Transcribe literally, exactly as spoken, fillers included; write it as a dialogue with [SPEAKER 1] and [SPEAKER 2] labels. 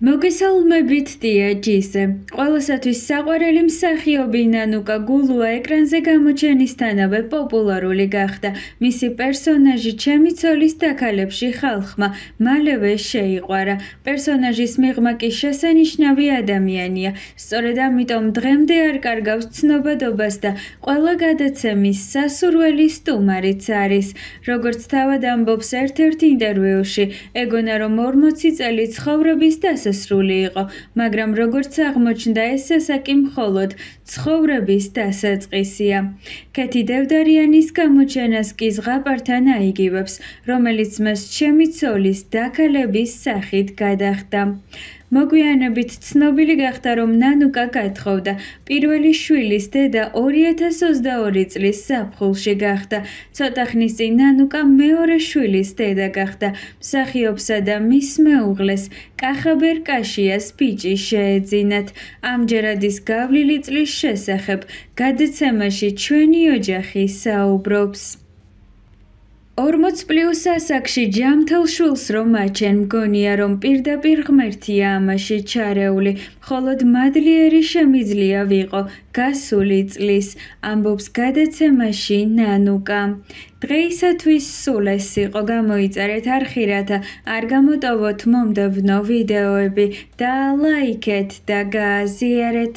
[SPEAKER 1] მოგესალმებით დიაჯიზე. ყველასათვის საყვარელი მსახიობი ნანუკა გულუა ეკრანზე გამოჩენისთანავე პოპულარული გახდა. მისი პერსონაჟი ჩემი ცოლის დაქალებში ხალხმა მალევე შეიყვარა. პერსონაჟის მიღმა კი შესანიშნავი ადამიანია. სწორედ ამიტომ დღემდე არ კარგავს ცნობადობას და ყველა გადაცემის სასურველი სტუმარიც არის. როგორც თავად ამბობს ერთ-ერთ ინტერვიუში, ეგონა რომ ორმოცი წელი ცხოვრების დასასრული იყო, მაგრამ როგორც აღმოჩნდა, ეს ასაკი მხოლოდ ცხოვრების დასაწყისია. ქეთი დევდარიანის გამოჩენას კი ზღაპართან აიგივებს, რომელიც მას ჩემი ცოლის დაქალების სახით გადახდა. მოგვიანებით ცნობილი გახდა, რომ ნანუკა გათხოვდა. პირველი შვილის დედა ორი ათას ოცდაორი წლის ზაფხულში გახდა. ცოტა ხნის წინ ნანუკა მეორე შვილის დედა გახდა. მსახიობსა და მის მეუღლეს კახაბერ კაშიას ბიჭი შეეძინათ. ამჯერად ის გავლილი წლის შესახებ გადაცემაში ჩვენი ოჯახი საუბრობს. ორმოც პლუს ასაკში ჯამთელ შვილს რომ აჩენ, მგონია რომ პირდაპირ ღმერთია ამაში ჩარეული, მხოლოდ მადლიერი შემიძლია ვიყო გასული წლის, ამბობს გადაცემაში ნანუკა. დღეისათვის სულ ეს იყო, გამოიწერეთ არხი, რათა არ გამოტოვოთ მომდევნო ვიდეოები და ლაიქეთ და გააზიარეთ.